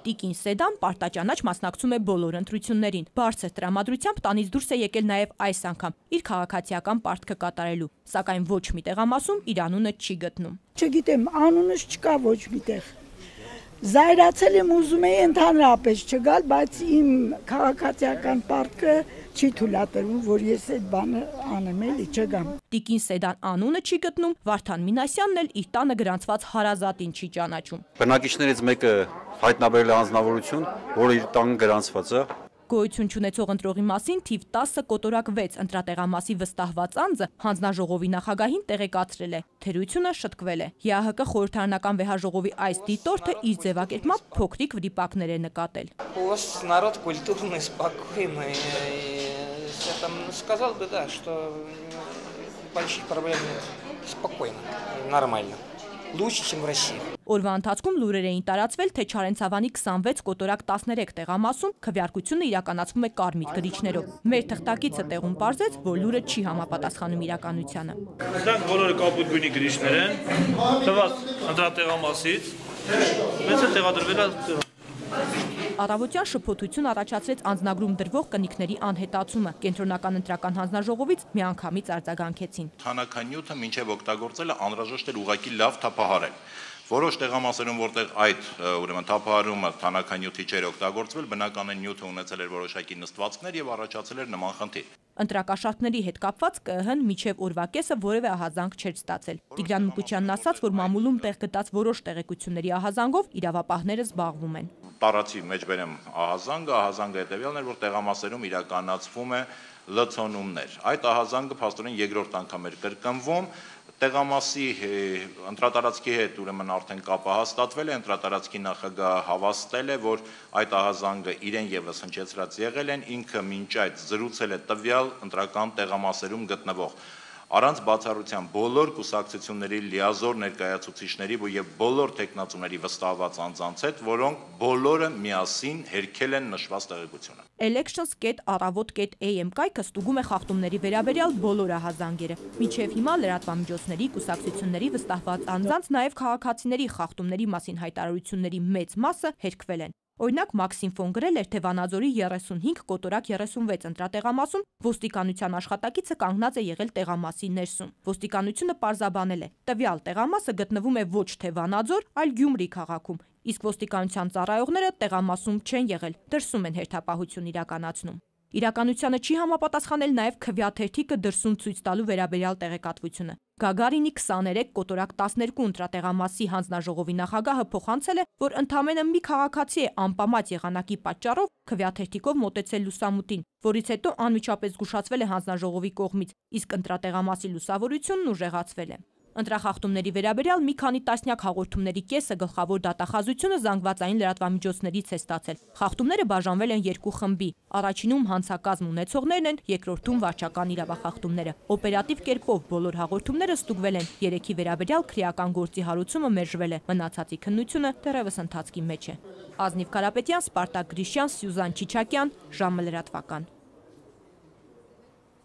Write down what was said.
Տիկին Սեդան պարտաճանաչ մասնակցում է բոլոր ընտրություններին։ Բարձր տրամադրությամբ տանից դուրս է եկել նաև այս անգամ իր քաղաքացիական պարտքը կատարելու, սակայն ոչ մի տեղամասում իր անունը չի գտնում։ Չգիտեմ, անունս չկա ոչ միտեղ։ Զայրացել եմ, ուզում էի ընդհանրապես չգալ, բայց իմ քաղաքացիական պարտքը չի թույլատրվում, որ ես այդ բանը անեմ, էլի չգամ։ Տիկին Սեդան անունը չի գտնում, Վարդան Մինասյանն էլ իր տանը գրանցված հարազատին չի ճանաչում։ Բնակիչներից մեկը հայտնաբերել է անձնավորություն, որը իր տան գրանցված է։ Գոյություն չունեցող ընտրողի մասին թիվ 10 կոտորակ 6 ընտրատեղամասի վստահված անձը հանձնաժողովի նախագահին տեղեկացրել է։ Թերությունը շտկվել է։ ԵԱՀԿ խորհրդարանական վեհաժողովի այս դիտորդը իր ձևակերպմամբ փոքրիկ վրիպակներ է նկատել։ У вас народ культурный, спокойный. Я там сказал бы, да, что больших проблем нет. Спокойно, нормально. Лучше, чем в России. Օրվա ընթացքում լուրեր էին տարածվել, թե Չարենցավանի 26 կոտորակ 13 տեղամասում քվեարկությունը իրականացվում է կարմիր գրիչներով։ Մեր թղթակիցը տեղում պարզեց, որ լուրը չի համապատասխանում իրականությանը։ Դրանք բոլորը կապույտ գույնի գրիչներ են, թվաց ընտրատեղամասից, մեծ է տեղադրվել է։ Առավոտյան շփոթություն առաջացրեց անձնագրում դրվող կնիքների անհետացումը։ Կենտրոնական ընտրական հանձնաժողովից միանգամից արձագանքեցին։ Թանաքանյութը մինչև օգտագործելը անհրաժեշտ էր ուղղակի լավ թափահարել։ Որոշ տեղամասերում, որտեղ այդ ուրեմն թափահարումը թանաքանյութի չէր օգտագործվել, բնականին նյութը ունեցել էր որոշակի նստվածքներ եւ առաջացել էր նման խնդիր։ Ընտրակաշառքների հետ կապված ԿԸՀ-ն մինչև օրվա կեսը որևէ ահազանգ չէր ստացել։ Տիգրան Մուկուչյանն ասաց, որ մամուլում տեղ գտած որոշ տեղեկությունների ահազանգով իրավապահները զբաղվում են։ Տարածի մեջ բերեմ ահազանգը հետևյալն էր, որ տեղամասերում իրականացվում է լցոնումներ։ Այդ ահազանգը փաստորեն երկրորդ անգամ էր կրկնվում։ Տեղամասի ընտրատարածքի հետ ուրեմն արդեն կապը հաստատվել է, ընտրատարածքի նախագահը հավաստել է, որ այդ ահազանգը իրեն եւս հնչեցրած եղել են, ինքը մինչ այդ զրուցել է տվյալ ընտրական տեղամասերում գտնվող առանց բացառության բոլոր կուսակցությունների լիազոր ներկայացուցիչների եւ բոլոր տեխնացուների վստահված անձանց հետ, որոնք բոլորը միասին հերքել են նշված տեղեկությունը։ Elections.aravot.am կայքը ստուգում է խախտումների վերաբերյալ բոլոր ահազանգերը։ Մինչև հիմա լրատվամիջոցների, կուսակցությունների վստահված անձանց, նաև քաղաքացիների խախտումների մասին հայտարարությունների մեծ մասը հերքվել են։ Օրինակ Մաքսիմֆոն գրել էր, թե Վանաձորի 35 կոտորակ 36 ընտրատեղամասում ոստիկանության աշխատակիցը կանգնած է եղել տեղամասի ներսում։ Ոստիկանությունը պարզաբանել է, տվյալ տեղամասը գտնվում է ոչ թե Վանաձոր, այլ Գյումրի քաղաքում, իսկ ոստիկանության ծառայողները տեղամասում չեն եղել, դրսում են հերթապահություն իրականացնում։ Իրականությանը չի համապատասխանել նաև քվեաթերթիկը դրսում ցույց տալու վերաբերյալ տեղեկատվությունը։ Գագարինի 23 կոտորակ 12 ընտրատեղամասի հանձնաժողովի նախագահը փոխանցել է, որ ընդամենը մի քաղաքացի է անպամած եղանակի պատճառով քվեաթերթիկով մոտեցել լուսամուտին, որից հետո անմիջապես զգուշացվել է հանձնաժողովի կողմից, իսկ ընտրատեղամասի լուսավորությունն ուժեղացվել է։ Ընտրախախտումների վերաբերյալ մի քանի տասնյակ հաղորդումների կեսը գլխավոր դատախազությունը զանգվածային լրատվամիջոցներից է ստացել։ Խախտումները բաժանվել են երկու խմբի։ Առաջինում հանցակազմ ունեցողներն են, երկրորդում վարչական իրավախախտումները։ Օպերատիվ կերպով բոլոր հաղորդումները ստուգվել են։ Երեքի վերաբերյալ քրեական գործի հարուցումը մերժվել է։ Մնացածի քննությունը դեռևս ընթացքի մեջ է։ Ազնիվ Կարապետյան, Սպարտակ Գրիշյան, Սյուզան Չիչակյան, ժամը լրատվական։